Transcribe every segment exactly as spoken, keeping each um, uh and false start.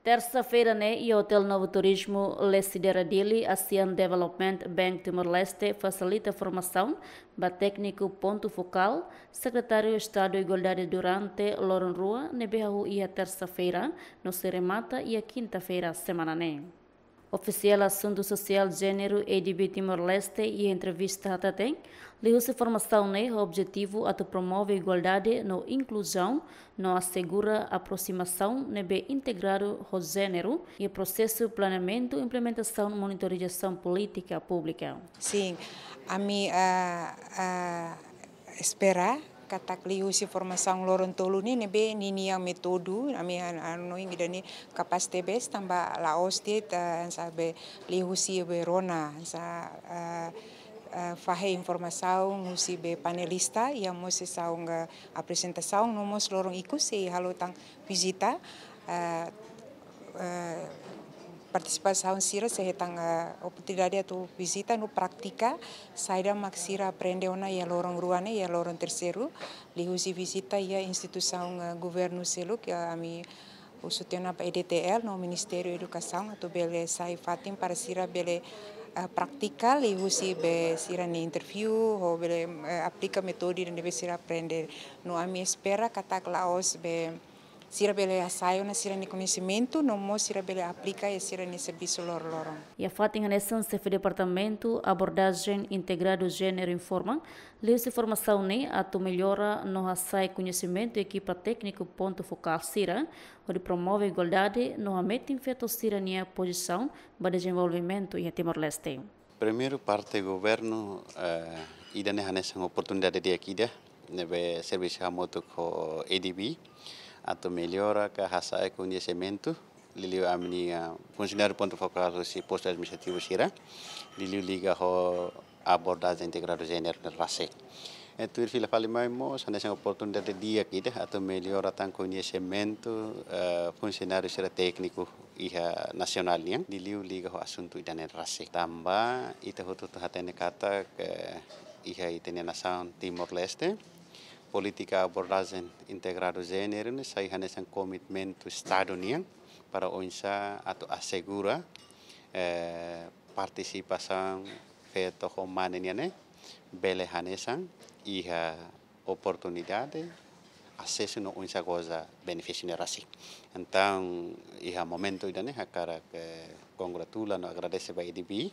Tersa-feira ne'e, iha Hotel Novo Turismo, Lecidera Dili, ASEAN Development Bank Timor-Leste fasilita formasaun ba tékniku pontu fokál, Sekretáriu Estadu Igualdade Durante, loron rua, ne'ebé hahú iha tersa-feira, no sei remata iha kinta-feira semana ne'e. Ofisiál Asuntu Sosiál Jéneru, A D B Timor-Leste, iha entrevista hateten, liuhusi formasaun ne'e ho objetivu atu promove igualdade no inkluzaun, no asegura aprosimasaun ne'ebé integradu ho jéneru iha prosesu planeamentu, implementasaun, monitorizasaun polítika públika. Sin, ami, ah, ah, espera katak liuhusi formasaun loron tolu ne'e, ne'ebé ninia métodu, ami han-, hanoin ida-ne'e kapás tebes tanba la'ós de'it, ah, hanesan be liuhusi be rona, hanesan, ah, ah, fahe informasaun husi be panelista, iha mós sesaun, ah, aprezentasaun, no mós loron ikus sei halo tan vizita, ah, ah, partisipantes sira sei hetan, ah, oportunidade atu vizita no pratika saida mak sira aprende ona iha loron rua ne'e, iha loron terseiru, liuhusi vizita iha instituisaun, ah, governu seluk, iha ami husu tiha ona ba E D T L no Ministériu Edukasaun atu bele sai fatin para sira bele, ah, pratika liuhusi be sira-nia interview, ho bele, eh, aplika métodu ne'ebé sira aprende. No ami espera katak la'ós be sira bele hasa'e ona sira-nia koñesimentu, no mós sira bele aplika iha sira-nia servisu loroloron. Iha fatin hanesan, Xefe Departamentu Abordajen Integradu Jéneru informa, liuhusi formasaun ne'e atu mellora no hasa'e koñesimentu ekipa tékniku pontu fokál sira, hodi promove igualdade no hametin feto sira-nia pozisaun ba dezenvolvimentu iha Timor-Leste. Primeiru, parte governu, eh, ida-ne'e hanesan oportunidade di'ak ida, ne'ebé servisu hamutuk ho A D B, atu mellora ka hasa'e koñesimentu, liuliu ami-nia funsionáriu pontu fokál husi postu administrativu sira, liuliu liga ho abordajen integradu jéneru ne'e rasik. E tuir fila fali mai mós, hanesan oportunidade di'ak ida atu mellora tan koñesimentu, eh, funsionáriu sira tékniku iha nasionál nian, liuliu liga ho asuntu ida-ne'e rasik. Tanba ita hotu-hotu hatene katak, eh, iha ita-nia nasaun Timor-Leste, polítika abordajen integradu jéneru ne'e sai hanesan komitmentu Estadu nian para oinsá atu asegura, eh, partisipasaun feto ho mane nian ne'e bele hanesan iha oportunidade, asesu no oinsá goza benefísiu ne'e rasik. Entaun, iha momentu ida-ne'e hakarak, eh, kongratula no agradese ba A D B,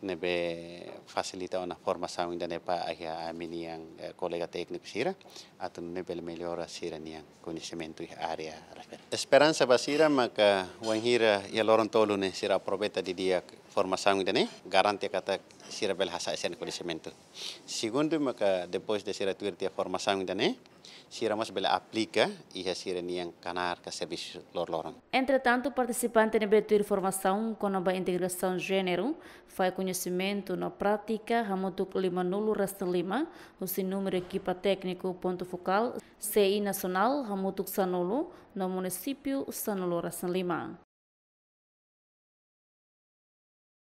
ne'ebé fasilita ona formasaun ida-ne'e ba iha ami-nian, eh, kolega tékniku sira, atu nune'e bele mellora sira-nian koñesimentu iha área refere. Esperansa ba sira maka wainhira iha loron tolu ne'e sira aproveita didi'ak formasaun ida-ne'e, garante katak sira bele hasa'e sira-nia koñesimentu. Segundu maka depois de sira tuir tiha formasaun ida-ne'e, sira mós bele aplika iha sira-nian knaar ka servisu loroloron. Entretantu, partisipante ne'ebé tuir formasaun kona-ba integrasaun jéneru, fahe koñesimentu no prátika hamutuk lima-nulu resin lima, husi númeru ekipa tékniku pontu fokál, C I nasionál hamutuk sanulu, no munisípiu sanulu resin lima.